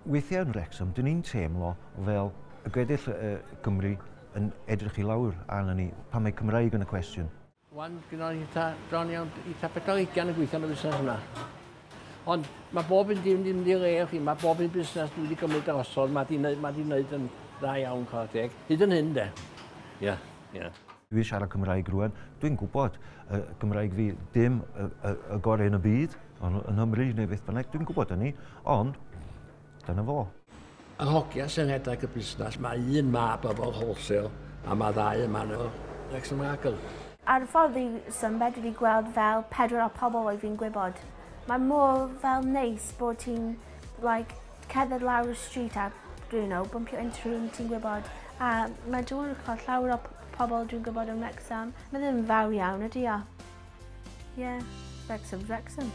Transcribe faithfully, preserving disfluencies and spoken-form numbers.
Weithiau yn Wrexham, dyn ni'n teimlo fel y gweddill uh, Gymru yn edrych i lawr arno ni pan mae Cymraeg yn y cwestiwn. Wan, gyda ni eitha, bron iawn, eitha pedwar ugain yn gweithio yn y busnes yna. Ond mae bob un dim ddim wedi le, chi, mae bob un busnes dwi wedi gymryd drosodd, mae di wneud, mae di wneud yn dda iawn, chwarae teg. Hyd yn hyn, de. Ie, ie. Dwi'n siarad Cymraeg rwan, dwi'n gwybod uh, Gymraeg fi dim y, y, y gorau yn y byd, ond yn Nghymru neu beth bynnag, dwi'n gwybod hynny, ond dyna fo. Yr hogia sy'n rhedeg y busnes, mae un mab efo'r wholesale, a mae ddau yma yn Wrexham Lager. Ar y ffordd i Sunbed, dwi wedi gweld fel pedwar o pobl oedd fi'n gwybod. Mae mor fel neis bod ti'n like, cerdded lawr y street a, you know, bumpio into rhywun ti'n gwybod. A mae dwi'n cael llawer o pobl dwi'n gwybod yn Wrexham. Mae ddim yn fawr iawn, ydy o? Yeah, Wrexham, Wrexham.